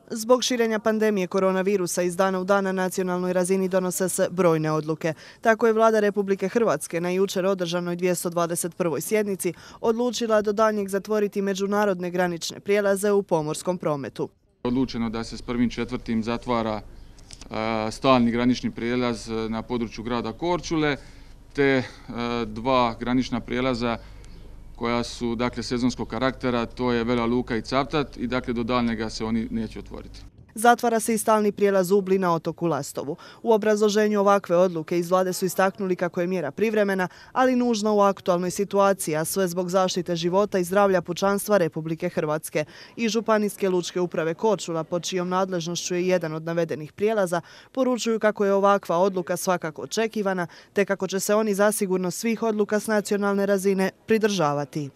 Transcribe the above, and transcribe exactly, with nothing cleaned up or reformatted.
Zbog širenja pandemije koronavirusa iz dana u dan na nacionalnoj razini donose se brojne odluke. Tako je Vlada Republike Hrvatske na jučer održanoj dvjesto dvadeset prvoj sjednici odlučila do daljnjeg zatvoriti međunarodne granične prijelaze u pomorskom prometu. Odlučeno da se s prvim četvrtim zatvara stalni granični prijelaz na području grada Korčule, te dva granična prijelaza koja su dakle sezonskog karaktera, to je Vela Luka i Cavtat, i dakle do daljnjega se oni neće otvoriti. Zatvara se i stalni prijelaz Ubli na otoku Lastovu. U obrazloženju ovakve odluke iz Vlade su istaknuli kako je mjera privremena, ali nužna u aktualnoj situaciji, a sve zbog zaštite života i zdravlja pučanstva Republike Hrvatske. I Županijske lučke uprave Korčula, pod čijom nadležnošću je jedan od navedenih prijelaza, poručuju kako je ovakva odluka svakako očekivana, te kako će se oni zasigurno svih odluka s nacionalne razine pridržavati.